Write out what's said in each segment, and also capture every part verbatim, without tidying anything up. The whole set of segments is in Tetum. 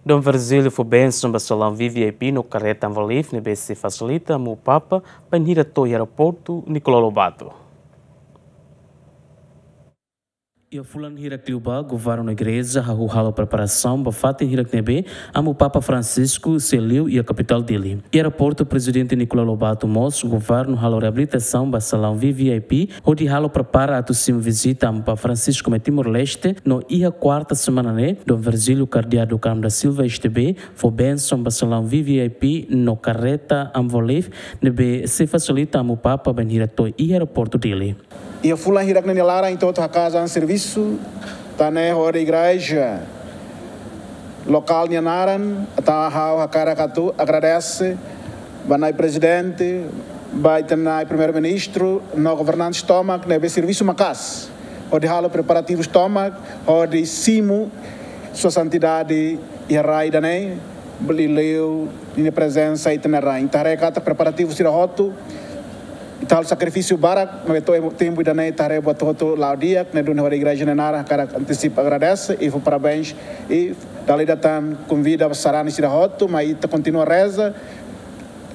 Dom Virgílio fó bensaun ba salaun V V I P no karreta Amu Leif ne'ebé sei fasilita Amu Papa bainhira to'o iha aeroportu Nicolau Lobato. Iha fulan hirak liubá, governu no igreja hahú halo preparasaun ba fatin hirak ne'ebé Amu Papa Francisco sei liu iha kapitál Dili. Iha aeroportu Prezidente Nicolau Lobato mós, governu halo reabilitasaun ba salaun V V I P, hodi halo prepara atu simu vizita Amu Papa Francisco mai Timor-Leste, no iha kuarta semana ne'e, Dom Virgílio Kardeál do Carmo da Silva S T B, fó bensaun ba salaun V V I P no karreta Amu Leif, ne'ebé sei fasilita Amu Papa bainhira to'o iha aeroportu Dili. Iha fulan hirak ne'e nia laran ita hotu hakaas an servisu, tan ne'e hodi igreja lokál nia naran, entaun ha'u hakarak atu agradese ba Na'i Prezidente, ba ita-nia Na'i Primeiru-Ministru, no governantes tomak ne'ebé servisu maka'as hodi halo preparativus tomak hodi simu Sua Santidade iha rai ida-ne'e, bele liu ninia prezensa iha ita-nia rain. Ita haree katak preparativus sira hotu, ita halo sakrifísiu barak, maibé to'o tempu ida-ne'e ita haree buat hotu la'o di'ak, ne'e duni hodi igreja nia naran hakarak antisipa agradese i fó parabéns, i dala ida tan konvida ba sarani sira hotu, mai ita kontinua reza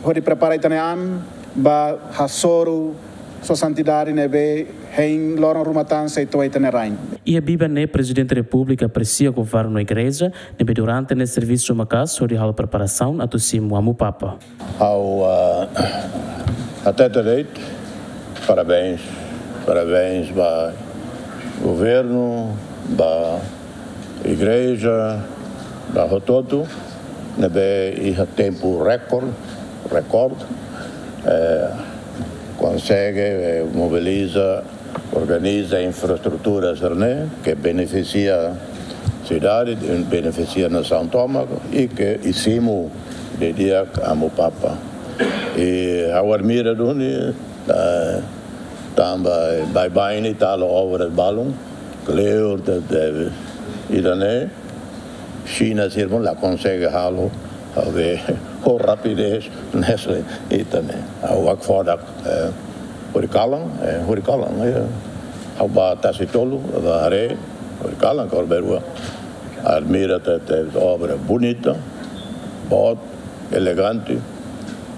hodi prepara ita-nia an ba hasoru Sua Santidade ne'ebé hein loron ruma tan sei to'o iha ita-nia rain. Iha biban ne'e Prezidente Repúblika apresia governu no igreja ne'ebé durante ne'e servisu maka'as hodi halo preparasaun atu simu Amu Papa. Ha'u, ah, hatete de'it, parabéns, parabéns ba governu, ba igreja, ba hotu-hotu, ne'ebé iha tempu rekorde, rekorde, eh, konsege, eh, mobiliza, organiza infraestrutura sira-ne'e ke benefisia sidade, benefisia nasaun tomak, i ke simu didi'ak Amu Papa. I ha'u admira duni, eh, tanba baibain ne'e ita halo obra balun, kleur tebes, ida-ne'e Xina sira mós la konsege halo, ha'u haree ho rapidez hanesan ita-nia. Ha'u hakfodak, eh, hori kalan, eh, hori kalan, eh, ha'u bá tasi tolu, bá haree, hori kalan, kor berua. Admira tebes, obra bonita, boot, elegante.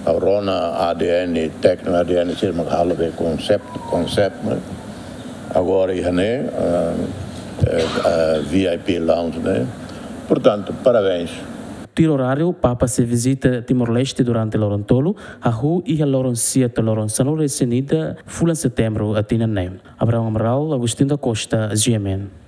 Ha'u rona A D N, tékniku A D N sira mak halo be konsep, konsep, ne'e. Agora iha ne'e, eh, eh, eh, V I P lounge ne'e. Portantu, parabéns. Tuir oráriu, Papa sei vizita Timor-Leste durante loron tolu, hahú iha loron sia to'o loron sanulu-resin-ida fulan Setembru tinan ne'e. Abraão Amaral, Agostinho da Costa, G M N.